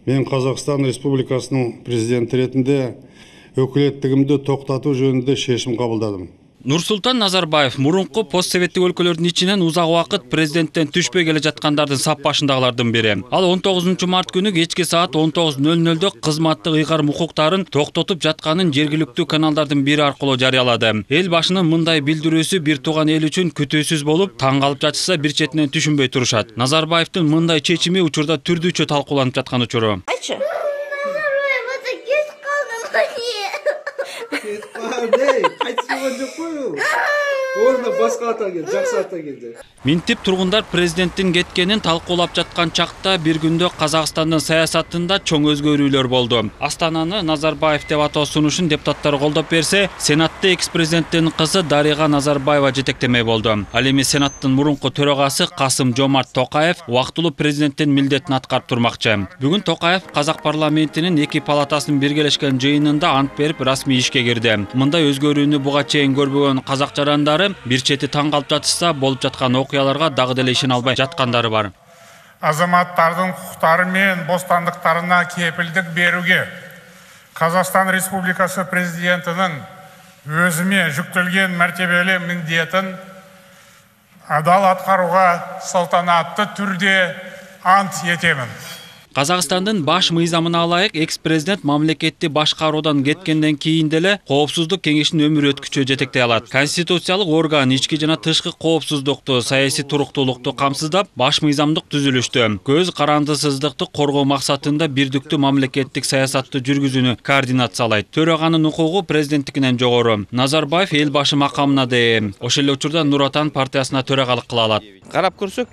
Мен Қазақстан Республикасының президенті ретінде өкілеттігімді тоқтату жөнінде шешім қабылдадым. Нурсултан Назарбаев мурунку постсоветтик өлкөлөрдүн ичинен узак убакыт президенттен түшпөй келе жаткандардын сап башындагылардын бири. Ал 19 март күнү кечки саат 19:00 кызматтык ыйгарым укуктарын токтотуп жатканын жергиликтүү каналдардын бири аркылуу жарыялады. Эл башынын мындай билдирүүсү бир тууган эл үчүн күтүүсүз болуп, таң калып жатышса бир четинен түшүнбөй турушат. Назарбаевдин мындай чечими учурда түрдүүчө талкууланып жаткан учуру. Минтип тургундар президенттин кеткенин талкуулап жаткан чакта бир күндө Казакстандын саясатында чоң өзгөрүүлөр болду. Астананы Назарбаев деп атоо сунушун депутаттар колдоп берсе, Сенатта экс-президенттин кызы Дарига Назарбаева жетектемей болду. Ал эми Сенаттын мурунку төрагасы Касым-Жомарт Токаев убактылуу президенттин милдетин аткарып турмакчы. Бүгүн Токаев Казак парламентинин эки палатасынын биргелешкен жыйынында ант берип расмий ишке кирди. Мындай өзгөрүүнү буга чейин көрбөгөн казак жарандары бир чети таң калып жатышса, болуп жаткан окуяларга дагы деле ишене албай жаткандары бар. Азаматтардын укуктары менен бостандыктарына кепилдик берүүгө Казакстан Республикасы президентинин өзүмө жүктөлгөн мәртебелүү милдетин адал аткарууга салтанаттуу түрдө ант этемин. Казакстандын баш мыйзамына ылайык экс-президент мамлекетти башкаруудан кеткенден кийин деле Коопсуздук кеңешинин өмүр өткүчү жетектей алат. Конституциялык орган ички жана тышкы коопсуздукту, саясий туруктуулукту камсыздап, баш мыйзамдык түзүлүштү көз карандысыздыкты коргоо максатында бирдиктүү мамлекеттик саясатты жүргүзүүнү координациялайт. Төраганын укугу президенттикинен жогору. Назарбаев эл башы макамына да ээ. Ошол эле учурда Нур Отан партиясына төрагалык кыла алат. Карап көрсөк,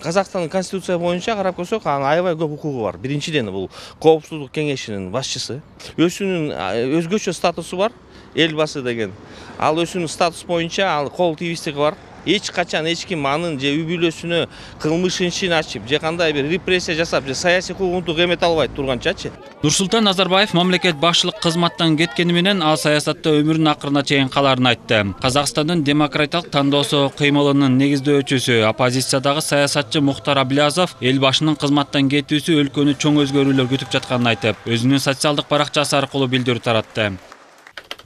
Казакстандын конституция боюнча карап көрсөк, аябай көп укугу бар. Биринчиден бул Коопсуздук кеңешинин башчысы. Өзүнүн өзгөчө статусу бар, эл башы деген. Ал өзүнүн статус боюнча ал кол тийбестиги бар. Эч качан эч ким анын же үй бүлөсүнө кылмыш ишин ачып, же кандай бир репрессия жасап, же саясий куугунтук эмете албайт турганчачы. Нурсултан Назарбаев мамлекет башчылык кызматтан кеткени менен ал саясатта өмүрүнүн акырына чейин каларын айтты. Казакстандын демократиялык тандоосу кыймылынын негиздөөчүсү, оппозициядагы саясатчы Мухтар Аблязов эл башынын кызматтан кетүүсү өлкөнү чоң өзгөрүүлөр күтүп жатканын айтып, өзүнүн социалдык баракчасы аркылуу билдирүү таратты.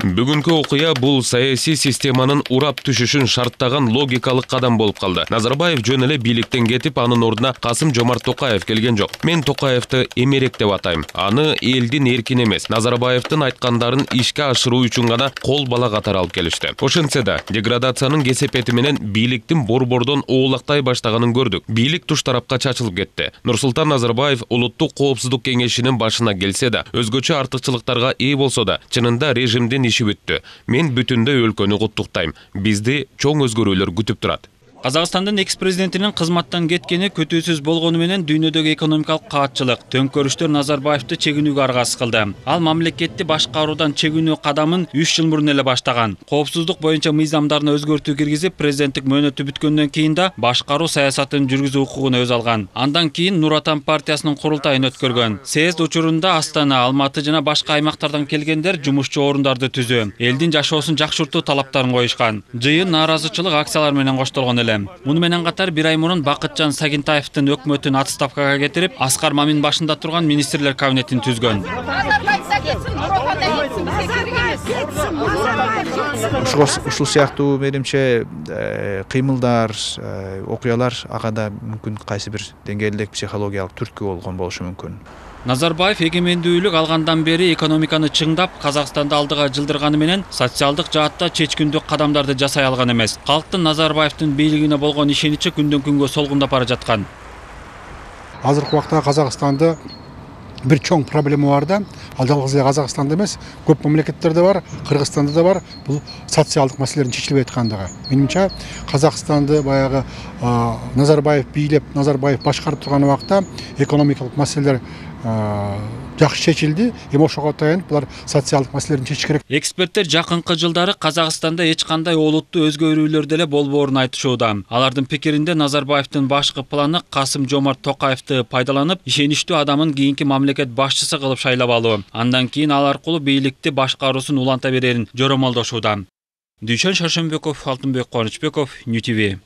Бүгүнкү окуя бул саясий системанын урап түшүшүн шарттаган логикалык кадам болуп калды. Назарбаев жөн эле бийликтен кетип, анын ордуна Касым-Жомарт Токаев келген жок. Мен Токаевди эмерек деп атайм. Аны элдин эркин эмес, Назарбаевдин айткандарын ишке ашыруу үчүн гана кол бала катары алып келишти. Ошентсе да, деградациянын кесепети менен бийликтин борбордон оолактай баштаганын көрдүк. Бийлик туш тарапка чачылып кетти. Нурсултан Назарбаев улуттук коопсуздук кеңешинин башына келсе да, өзгөчө артыкчылыктарга ээ болсо да, чынында режимдин иши бүттү. Мен бүтүндөй өлкөнү куттуктайм. Бизди чоң өзгөрүүлөр күтүп турат. Казакстандын экс-президентинин кызматтан кеткени күтүүсүз болгону менен дүйнөдөгү экономикалык каатчылык, төңкөрүштөр Назарбаевди чегинүүгө аргасыз кылды. Ал мамлекетти башкаруудан чегинүү кадамын 3 жыл мурун эле баштаган. Коопсуздук боюнча мыйзамдарына өзгөртүү киргизип, президенттик мөөнөтү бүткөндөн кийин да башкаруу саясатын жүргүзүү укугун өз алган. Андан кийин Нур Отан партиясынын курултайын өткөргөн. Съезд учурунда Астана, Алматы жана башка аймактардан келгендер жумушчу орундарды түзүү, элдин жашоосун жакшыртуу талаптарын коюшкан. Жыйын нааразычылык акциялар менен коштолгон эле. Муну менен катар бир ай мурун Бакытжан Сагинтаевдин өкмөтүн отставкага кетирип, Аскар Мамин башында турган министрлер кабинетин түзгөн. Ушул сыяктуу менимче кыймылдар, окуялар ага да мүмкүн кайсы бир деңгээлдик психологиялык түрткү болгон болушу мүмкүн. Назарбаев эгемендүүлүк алгандан бери экономиканы чыңдап, Казакстанды алдыга жылдырганы менен социалдык жаатта чечкиндүү кадамдарды жасай алган эмес. Калктын Назарбаевдин бийлигине болгон ишеничи күндөн күнгө солгундап бара жаткан. Азыркы убакта Казакстанда бир чоң проблема бар да, ал жалгыз эле Казакстанда эмес, көп мамлекеттерде бар, Кыргызстанда да бар, бул социалдык маселелердин чечилбей аткандыгы. Менимче, Казакстанды баягы Назарбаев бийлеп, Назарбаев башкарып турган убакта экономикалык маселелер жакшы чечилди. Эми ошого таянып булар социалдык маселелерин чечиш керек. Эксперттер жакынкы жылдары Казакстанда эч кандай олуттуу өзгөрүүлөр деле болбоорун айтышууда. Алардын пикиринде Назарбаевдин башкы планы Касым-Жомарт Токаевди пайдаланып, ишеничтүү адамын кийинки мамлекет башчысы кылып шайлап алуу. Андан кийин ал аркылуу бийликти башкаруусун уланта берерин жоромолдошууда. Дүйшөн Шаршенбеков, Алтынбек Кубанычбеков, Нью ТВ.